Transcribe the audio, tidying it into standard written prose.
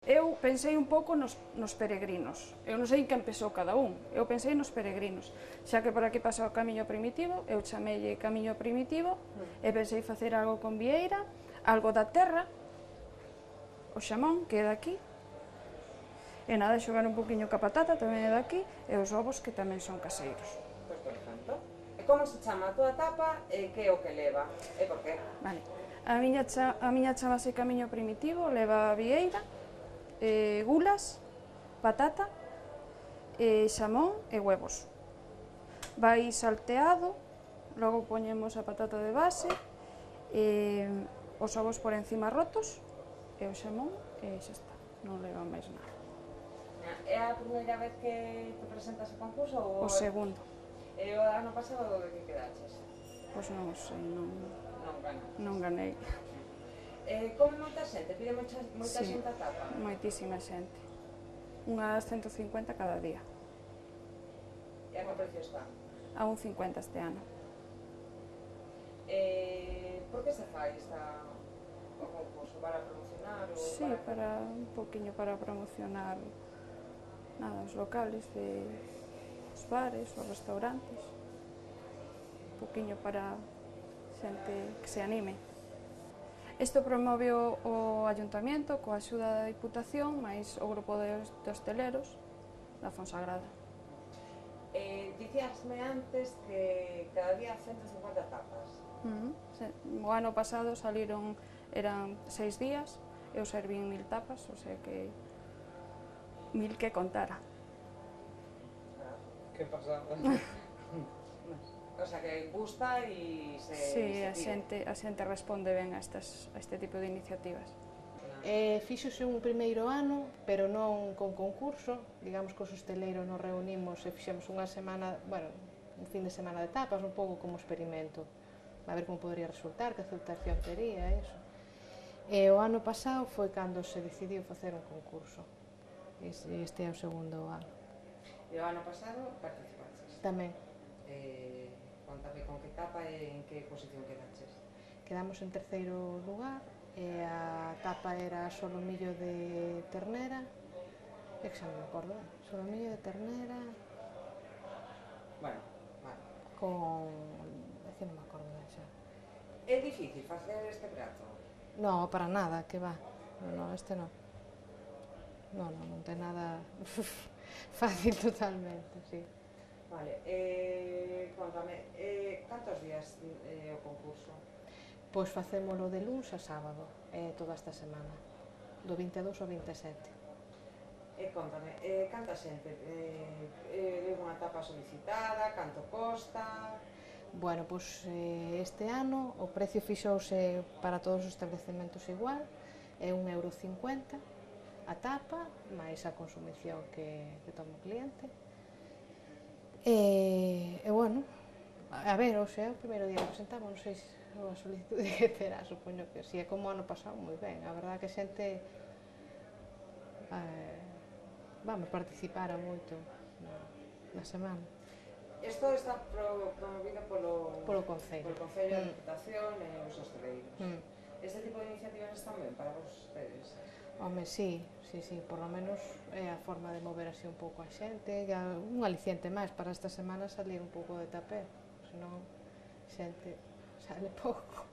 Eu pensei un pouco nos peregrinos, eu non sei quen pensou cada un, eu pensei nos peregrinos, xa que por aquí pasa o camiño primitivo, eu chamelle camiño primitivo e pensei facer algo con vieira, algo da terra, o xamón que é daqui, e nada, xogar un poquinho ca patata, tamén é daqui, e os ovos que tamén son caseiros. Pois perfecto. E como se chama a túa tapa e que é o que leva? E por qué? Vale. A miña chamase camiño primitivo, leva vieira, gulas, patata, xamón e huevos. Vai salteado, logo poñemos a patata de base, os ovos por encima rotos, e o xamón, e xa está, non leva máis nada. É a primeira vez que te presentas a concurso? O segundo. E o ano pasado de que quedaches? Pois non sei, non ganei. Come moita xente? Pide moita xente a tapa? Moitísima xente. Unhas 150 cada día. E a que precio está? A 1,50 este ano. Por que se fai o concurso? Para promocionar? Sí, para un poquinho para promocionar os locales, os bares, os restaurantes. Un poquinho para xente que se anime. Isto promove o Ayuntamiento coa axuda da Diputación máis o grupo de hosteleros da Fonsagrada. Dicíasme antes que cada día 150 tapas. O ano pasado eran 6 días, eu servín 1000 tapas, o sea que 1000 que contara. Que pasada. O sea, que gusta e se Sí, a xente responde ben a este tipo de iniciativas. Fíxose un primeiro ano, pero non con concurso, digamos que os hosteleiros nos reunimos e fixemos unha semana, bueno, un fin de semana de tapas, un pouco como experimento, a ver como podría resultar, que aceptación tería, eso. E o ano pasado foi cando se decidiu facer un concurso, este é o segundo ano. E o ano pasado participaches? Tamén. Contame con que tapa e en que posición quedaches? Quedamos en terceiro lugar e a tapa era solomillo de ternera, é que xa non me acordo, solomillo de ternera... Bueno, vale. Con... é que non me acordo xa. É difícil facer este prato? No, para nada, que va. No, este non. Non ten nada fácil totalmente, sí. Vale, contame, cantos días o concurso? Pois facémolo de luns a sábado, toda esta semana, do 22 ao 27. Contame, canta xente? É unha tapa solicitada, canto costa? Bueno, pois este ano o precio fixouse para todos os establecementos igual, é 1,50 € a tapa, máis a consumición que toma o cliente. E bueno, a ver, o sea, o primeiro día que presentamos, non sei se a solicitude que terá, supoño que si é como ano pasado, moi ben, a verdade que a xente participara moito na semana. Isto está promovido polo Concello de Diputación e os hosteleiros. Este tipo de iniciativas están ben para vostedes? Home, sí, por lo menos é a forma de mover así un pouco a xente, un aliciente máis para esta semana salir un pouco de tapé, senón xente sale pouco.